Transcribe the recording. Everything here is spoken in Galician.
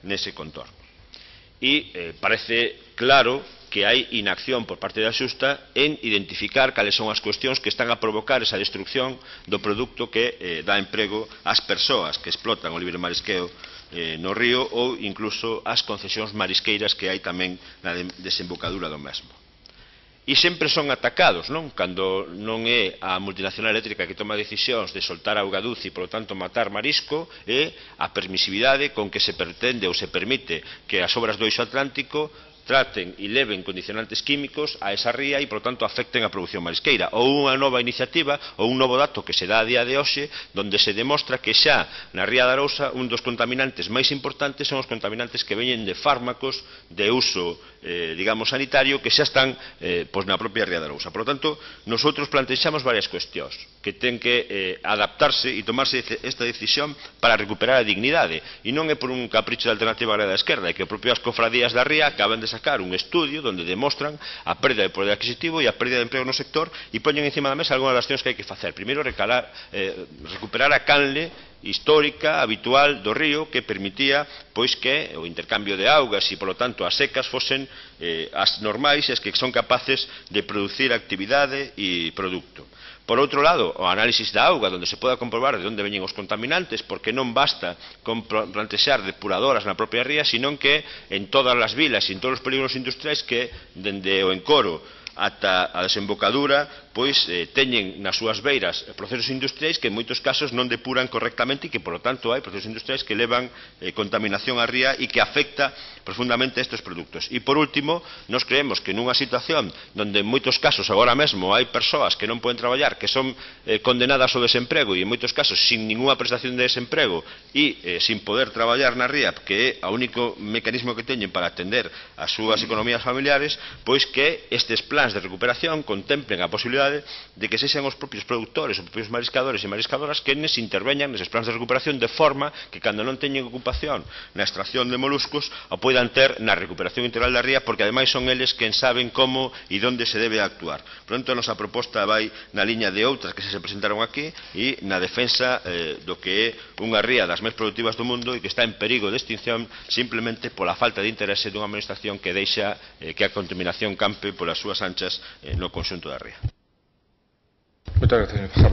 nese contorno. E parece claro que hai inacción por parte da Xunta en identificar cales son as cuestións que están a provocar esa destrucción do produto que dá emprego ás persoas que explotan o libre marisqueo no río ou incluso as concesións marisqueiras que hai tamén na desembocadura do mesmo. E sempre son atacados, non? Cando non é a multinacional eléctrica que toma decisións de soltar auga dulce e, polo tanto, matar marisco, é a permisividade con que se pretende ou se permite que as obras do eixo atlántico traten e leven condicionantes químicos a esa ría e, por tanto, afecten a produción marisqueira. Ou unha nova iniciativa, ou un novo dato que se dá a día de hoxe, donde se demostra que xa na ría de Arousa un dos contaminantes máis importantes son os contaminantes que veñen de fármacos de uso, digamos, sanitario, que xa están na propia ría de Arousa. Por lo tanto, nosotros plantexamos varias cuestións que ten que adaptarse e tomarse esta decisión para recuperar a dignidade. E non é por un capricho de alternativa á da esquerda, é que as propias cofradías da ría acaban de sacar un estudio onde demostran a perda de poder adquisitivo e a perda de emprego no sector e poñen encima da mesa algunhas das accións que hai que facer. Primeiro, recuperar a canle histórica, habitual do río que permitía que o intercambio de augas e, polo tanto, as secas fosen as normais e as que son capaces de producir actividade e produto. Por outro lado, o análisis da auga, onde se poda comprobar de onde veñen os contaminantes, porque non basta con plantexar depuradoras na propia ría, senón que en todas as vilas e en todos os polígonos industriais que, dende o encoro ata a desembocadura, teñen nas súas beiras procesos industriais que en moitos casos non depuran correctamente e que, polo tanto, hai procesos industriais que levan contaminación á ría e que afecta profundamente a estes produtos. E, por último, nos creemos que nunha situación onde en moitos casos agora mesmo hai persoas que non poden traballar, que son condenadas ao desemprego e en moitos casos sin ninguna prestación de desemprego e sin poder traballar na ría, que é o único mecanismo que teñen para atender as súas economías familiares, pois que estes plans de recuperación contemplen a posibilidade de que sexan os propios produtores, os propios mariscadores e mariscadoras que interveñan neses plans de recuperación de forma que cando non teñen ocupación na extracción de moluscos o poidan ter na recuperación integral da ría, porque ademais son eles quen saben como e onde se debe actuar. Por tanto, a nosa proposta vai na liña de outras que se presentaron aquí e na defensa do que é unha ría das máis productivas do mundo e que está en perigo de extinción simplemente pola falta de interese dunha administración que deixa que a contaminación campe polas súas anchas no conxunto da ría. Muchas gracias, señor.